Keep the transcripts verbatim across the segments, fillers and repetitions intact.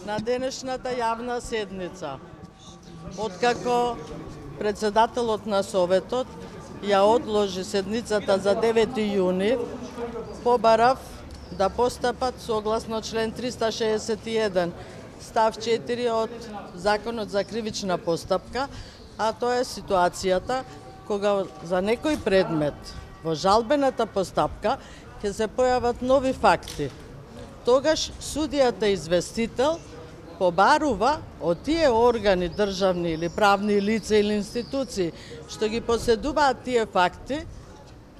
на денешната јавна седница. Откако председателот на Советот ја одложи седницата за девети јуни, побарав да постапат согласно член триста шеесет и еден став четири од Законот за кривична постапка, а тоа е ситуацијата кога за некој предмет во жалбената постапка ќе се појават нови факти. Тогаш судијата известител побарува од тие органи, државни или правни лица или институции што ги поседуваат тие факти,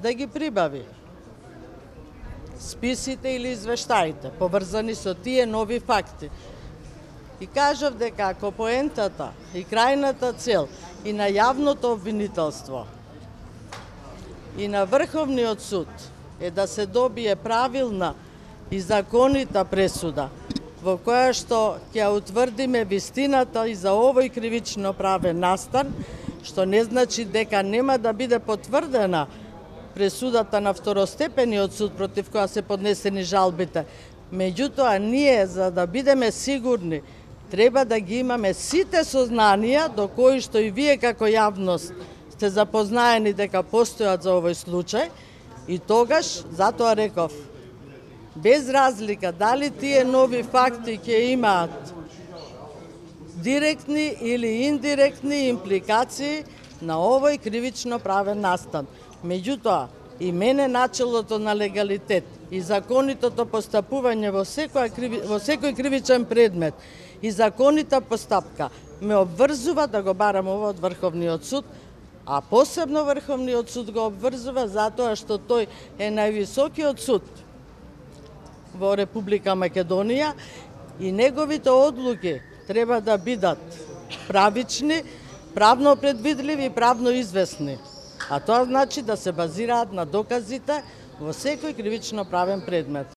да ги прибави списите или извештаите поврзани со тие нови факти. И кажав дека ако поентата и крајната цел и на јавното обвинителство и на Врховниот суд е да се добие правилна и законита пресуда, во која што ќе утврдиме вистината и за овој кривично правен настан, што не значи дека нема да биде потврдена пресудата на второстепениот суд против која се поднесени жалбите. Меѓутоа, ние, за да бидеме сигурни, треба да ги имаме сите сознанија до кои што и вие како јавност сте запознаени дека постојат за овој случај, и тогаш, затоа реков, без разлика дали тие нови факти ќе имаат директни или индиректни импликации на овој кривично правен настан. Меѓутоа, и мене начелото на легалитет и законитото постапување во секој, во секој кривичен предмет и законита постапка ме обврзува да го барам ова од Врховниот суд, а посебно Врховниот суд го обврзува затоа што тој е највисокиот суд во Република Македонија и неговите одлуки треба да бидат правични, правно предвидливи и правно известни. А тоа значи да се базираат на доказите во секој кривично правен предмет.